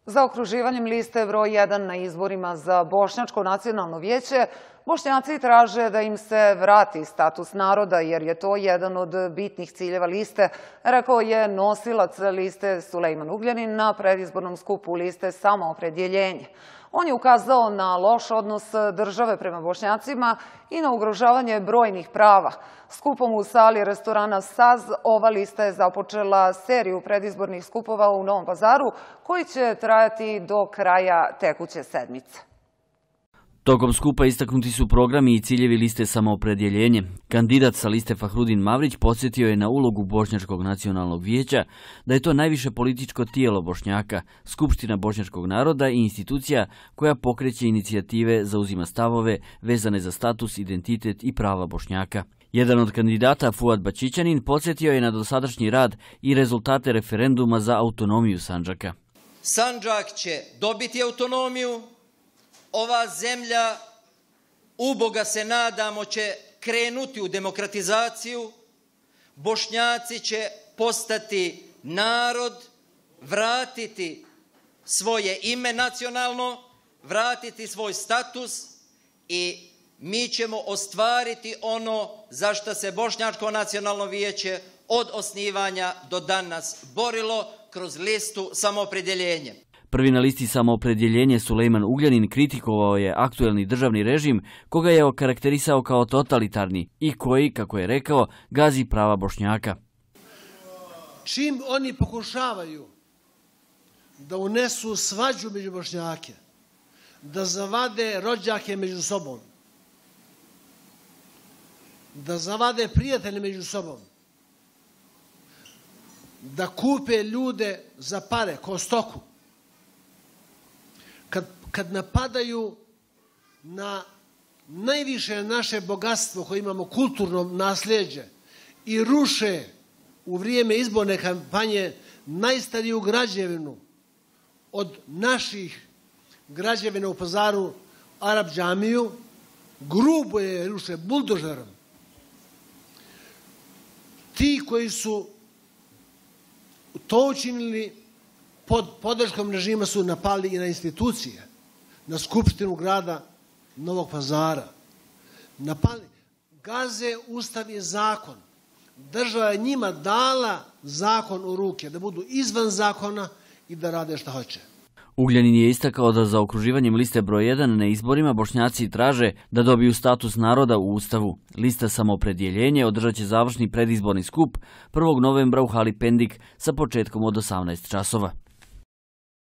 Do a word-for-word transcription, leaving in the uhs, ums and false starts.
Zaokruživanjem liste broj jedan na izborima za Bošnjačko nacionalno vijeće, Bošnjaci traže da im se vrati status naroda, jer je to jedan od bitnih ciljeva liste, rekao je nosilac liste Sulejman Ugljanin na predizbornom skupu liste Samoopredjeljenje. On je ukazao na loš odnos države prema Bošnjacima i na ugrožavanje brojnih prava. Skupom u sali restorana Saz ova lista je započela seriju predizbornih skupova u Novom Pazaru koji će trajati do kraja tekuće sedmice. Tokom skupa istaknuti su programi i ciljevi liste Samoopredjeljenje. Kandidat sa liste Fahrudin Mavrić podsjetio je na ulogu Bošnjačkog nacionalnog vijeća, da je to najviše političko tijelo Bošnjaka, Skupština bošnjačkog naroda i institucija koja pokreće inicijative, zauzima stavove vezane za status, identitet i prava Bošnjaka. Jedan od kandidata, Fuad Bačićanin, podsjetio je na dosadašnji rad i rezultate referenduma za autonomiju Sandžaka. Sandžak će dobiti autonomiju. Ova zemlja, uboga se nadamo, će krenuti u demokratizaciju. Bošnjaci će postati narod, vratiti svoje ime nacionalno, vratiti svoj status i mi ćemo ostvariti ono za što se Bošnjačko nacionalno vijeće od osnivanja do danas borilo kroz listu Samoopredjeljenje. Prvi na listi Samoopredjeljenje Sulejman Ugljanin kritikovao je aktuelni državni režim koga je okarakterisao kao totalitarni i koji, kako je rekao, gazi prava Bošnjaka. Čim oni pokušavaju da unesu svađu među Bošnjake, da zavade rođake među sobom, da zavade prijatelje među sobom, da kupe ljude za pare, ko stoku, Kad, kad napadaju na najviše naše bogatstvo koje imamo, kulturno nasljeđe, i ruše u vrijeme izborne kampanje najstariju građevinu od naših građevina u Pazaru, Arab džamiju, grubo je ruše buldožerom. Ti koji su to učinili pod podrškom režima su napali i na institucije, na Skupštinu grada Novog Pazara. Napali, gaze Ustav i zakon. Država je njima dala zakon u ruke, da budu izvan zakona i da rade šta hoće. Ugljanin je istakao da za okruživanjem liste broj jedan na izborima Bošnjaci traže da dobiju status naroda u Ustavu. Lista Samoopredjeljenje održat će završni predizborni skup prvog novembra u hali Pendik sa početkom od osamnaest časova.